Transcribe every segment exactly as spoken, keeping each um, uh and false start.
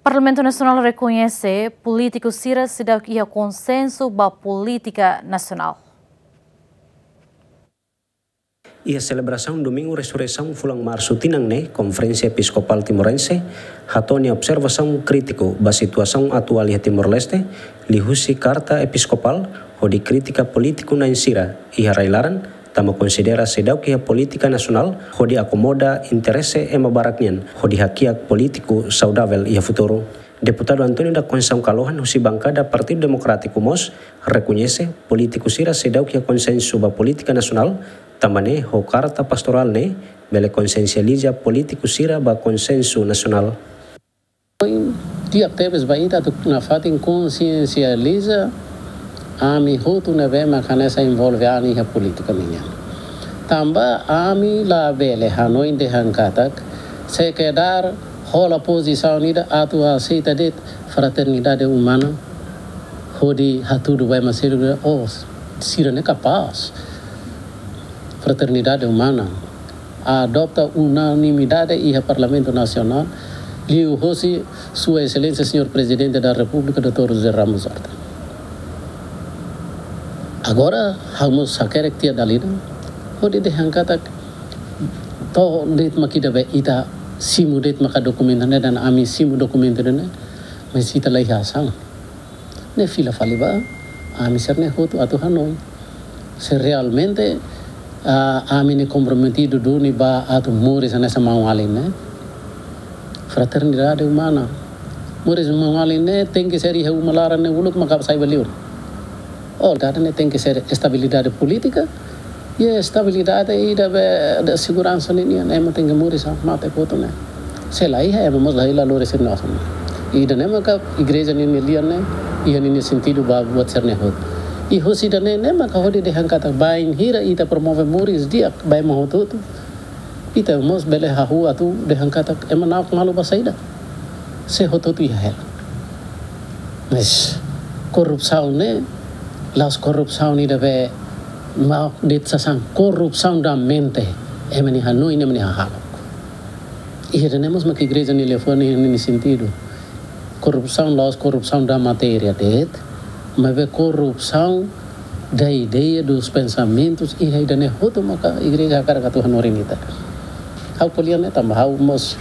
Parlamentu Nasionál rekoñese polítiku sira seidauk iha konsensu ba polítika nasionál. Iha selebrasaun Domingu Resureisaun fulan Marsu tinan ne'e, Konferénsia Episkopál Timorense hato'o nia observasaun krítiku ba situasaun atuál iha Timor-Leste, liuhusi Karta Episkopál, hodi kritika polítiku na'in sira iha rai-laran, tanba konsidera seidauk iha polítika nasionál hodi akomoda interese ema barak nian, hodi hakiak polítiku saudavel iha futuru. Deputadu António da Conceição Kalohan husi bankada Partidu Demokrátiku mós rekoñese polítiku sira seidauk iha konsensu ba polítika nasionál, tanba ne'e ho karta pastorál ne'e bele konsiensializa polítiku sira ba konsensu nasionál. Di'ak tebes ba ita atu nafatin konsiensializa ami hotu ne'ebé mak hanesan envolve an iha polítika nian. Tanba ami labele hanoin dehan katak sekedar hola pozisaun ida atu aseita de'it fraternidade umana hodi hatudu ba ema seluk, oh, sira ne'e kapás. Fraternidade umana adota unanimidade iha Parlamentu Nasionál, liuhosi Sua Exelénsia Señór Prezidente da Repúblika, doutór José Ramos Horta. Agora, ha'u mós hakerek tiha dala ida hodi dehan katak to'o de'it mak ida be ita simu de'it maka dokumentu ne'e, dan ami simu dokumentu ne'e, mais ita la iha asaun. Ne'e fila fali ba ami sira-ne'e hotu atu hanoin se realmente, ah, ami ne'e komprometidu duni ba atu moris hanesan maun-alin ne'e. Fraternidade umana. Moris maun-alin ne'e tenke ser iha uma laran ne'e uluk maka sai ba liur. Oh, ida-ne'e tenke ser estabilidade polítika, i estabilidade ida be, de seguransa ninian, ema tenke moris hanesan mate kotu ne'e. Se la iha, ema mós la iha lori sira-nia osan. Ida-ne'e maka igreja ninia lian ne'e, iha ninia sentidu ba buat sira-ne'e hotu. I husi ida-ne'e, ne'e maka hodi dehan katak bainhira ita promove moris di'ak ba ema hotu-hotu, ita mós bele hahú atu dehan katak ema na'ok malu ba saida, se hotu-hotu iha hela. Mais korrupsaun ne'e la'ós korrupsaun ida be mau de'it sasán, korrupsaun da mente, ema nia hanoin, ema nia hahalok. Ida-ne'e mós mak igreja nia liafuan iha ninia sentidu. Korrupsaun la'ós korrupsaun da matéria de'it, maibé korrupsaun da ideia, dos pensamentus, i ida-ne'e hotu maka igreja hakarak atu hanorin ita. Ha'u ko'alia ne'e tanba ha'u mós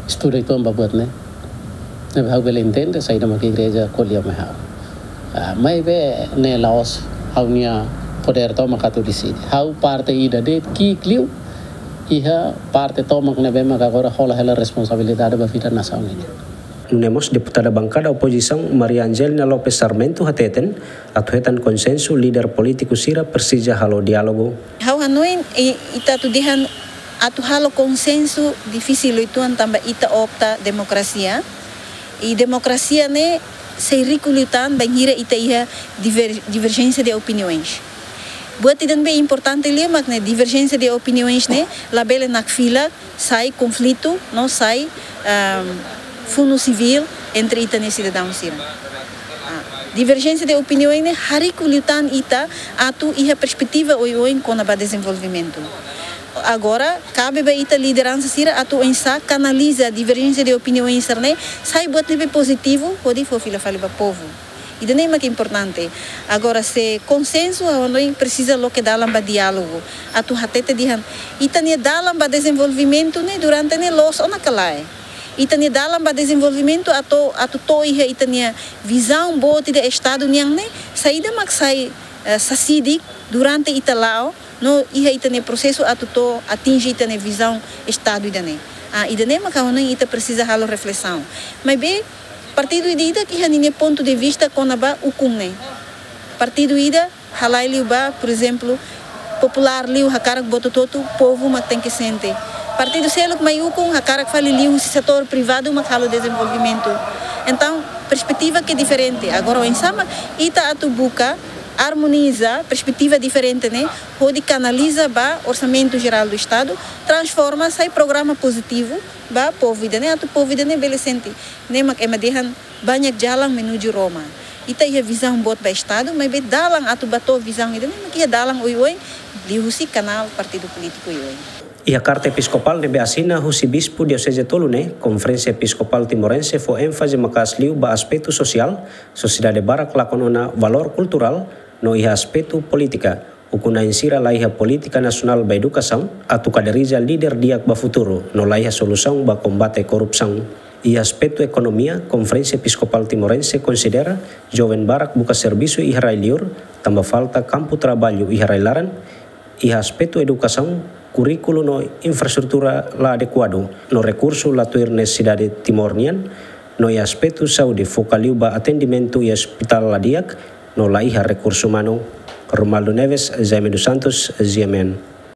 estuda uitoan ba buat ne'e. Ne'ebé ha'u bele entende saida maka igreja ko'alia mai ha'u. Ah, maibé ne'e la'ós ha'u-nia podér tomak atu deside. Ha'u parte ida de'it ki'ik liu iha parte tomak ne'ebé maka agora hola hela responsabilidade ba vida nasaun nian. Nune'e mós deputada bankada opozisaun Maria Angelina Lopes Sarmento hateten, atu hetan konsensu líder polítiku sira presiza halo diálogu. Ha'u hanoin, i, ita atu dehan atu halo konsensu difisil uitoan tanba ita opta demokrasia. I demokrasia ne'e sei riku liután bainhira ita iha diver-, diverjénsia de opiniões. Buat ida ne'ebé importante liu mak ne'e diverjénsia de opiniões ne'e labele nakfilak sai konflitu, no sai, ehm, funu sivíl entre ita-nia sidadaun sira. Ah, diverjénsia de opiniões ne'e hariku liután ita atu iha perspetiva oioin kona-ba dezenvolvimentu. Agora, kabe ba ita lideransa sira atu oinsá kanaliza diverjénsia de opiniões sira-ne'e sai buat ne'ebé pozitivu, hodi fó fila fali ba povu. Ida-ne'e mak importante. Agora, se konsensu, ha'u hanoin presiza loke dalan ba diálogu. Atu hatete dehan, ita-nia dalan ba dezenvolvimentu ne'e durante ne'e loos ona ka lae. Ita-nia dalan ba dezenvolvimentu atu, atu to'o iha ita-nia vizaun boot ida Estadu nian ne'e, saida mak sai, eh, sasidik durante ita la'o, no iha ita-nia prosesu atu to'o atinje ita-nia vizaun Estadu ida-ne'e. Ah, ida-ne'e mak ha'u hanoin ita presiza halo reflesaun. Maibé, partidu ida-idak iha ninia pontu de vista kona-ba ukun ne'e. Partidu ida halai liu ba, por ezemplu, populár liu hakarak buat hotu-hotu, povu mak tenke sente. Partidu seluk mai ukun hakarak fali liuhusi setór privadu mak halo dezenvolvimentu. Entaun, perspetiva ke diferente. Agora, oinsá mak ita atu buka armoniza perspetiva diferente ne'e, hodi kanaliza ba Orsamentu Jerál do Estadu, transforma sai programa pozitivu ba povu ida-ne'e, atu povu ida-ne'e bele sente. Ne'e mak ema dehan banyak jalan menuju Roma. Ita iha vizaun boot ba Estadu, maibé dalan atu ba to'o vizaun ida-ne'e mak iha dalan oioin, liuhusi kanál partidu polítiku oioin. Iha karta episkopál ne'ebé asina husi bispu dioseze tolu ne'e, Konferénsia Episkopál Timorense fó énfaze maka'as liu ba aspetu sosiál, sosiedade barak lakon ona valór kulturál, no iha aspetu polítika, ukun-na'in sira laiha polítika nasionál ba edukasaun, atu kaderija líder di'ak ba futuru, no laiha solusaun ba kombate korrupsaun. Iha aspetu ekonomia, Konferénsia Episkopál Timorense konsidera joven barak buka servisu iha rai-liur, tanba falta kampu traballu iha rai-laran, iha aspetu edukasaun, kurríkulu no infraestrutura la adekuadu, no rekursu la tuir nesesidade Timor nian, no iha aspetu saúde foka liu ba atendimentu iha ospitál la di'ak, no laiha rekursu umanu. Romualdo Neves, Jaime dos Santos, G M N.